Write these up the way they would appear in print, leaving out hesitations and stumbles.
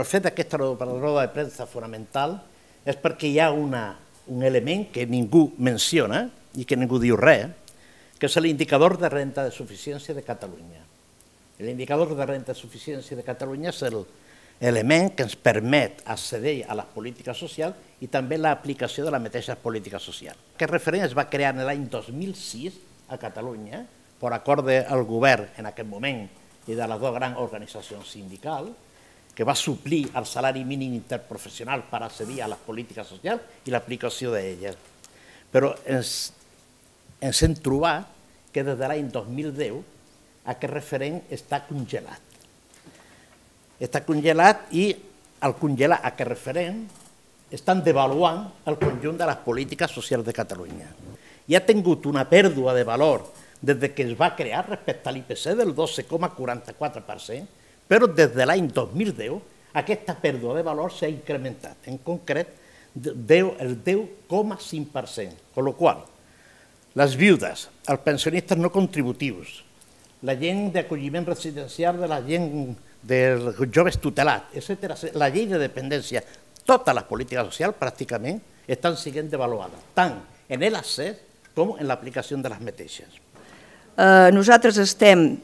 El fet d'aquesta roda de premsa fonamental és perquè hi ha un element que ningú menciona i que ningú diu res, que és l'indicador de renda de suficiència de Catalunya. L'indicador de renda de suficiència de Catalunya és l'element que ens permet accedir a les polítiques socials i també l'aplicació de les mateixes polítiques socials. Aquest referent es va crear l'any 2006 a Catalunya per acord del govern en aquest moment i de les dues grans organitzacions sindicals, que va suplir el salari mínim interprofessional per accedir a les polítiques socials i l'aplicació d'elles. Però ens hem trobat que des de l'any 2010 aquest referent està congelat. Està congelat i al congelar aquest referent estan devaluant el conjunt de les polítiques socials de Catalunya. I ha tingut una pèrdua de valor des que es va crear respecte a l'IPC del 12,44%, però des de l'any 2010 aquesta pèrdua de valor s'ha incrementat, en concret el 10,5%, amb la qual cosa les viudes, els pensionistes no contributius, la gent d'acolliment residencial de la gent dels joves tutelats, etc., la llei de dependència, totes les polítiques socials pràcticament estan sent devaluades, tant en l'accés com en l'aplicació de les mateixes. Nosaltres estem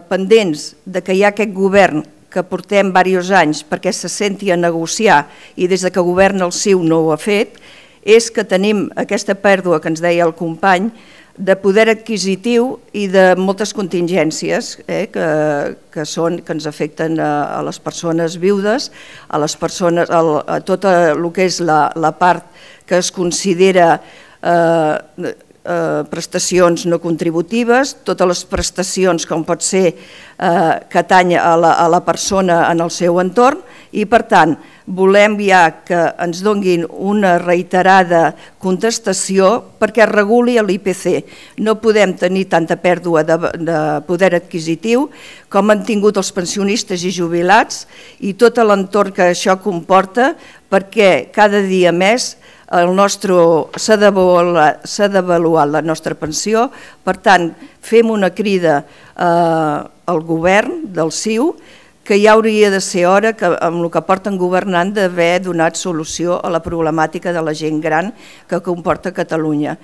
pendents de que hi ha aquest govern que portem diversos anys perquè se senti a negociar i des que governa el CiU no ho ha fet, és que tenim aquesta pèrdua que ens deia el company de poder adquisitiu i de moltes contingències que ens afecten a les persones viudes, a tot el que és la part que es considera prestacions no contributives, totes les prestacions com pot ser que atany a la persona en el seu entorn i per tant volem ja que ens donguin una reiterada contestació perquè es reguli l'IPC. No podem tenir tanta pèrdua de poder adquisitiu com han tingut els pensionistes i jubilats i tot l'entorn que això comporta perquè cada dia més s'ha devaluat la nostra pensió, per tant, fem una crida al govern del CiU que ja hauria de ser hora, amb el que porten governant, d'haver donat solució a la problemàtica de la gent gran que comporta Catalunya.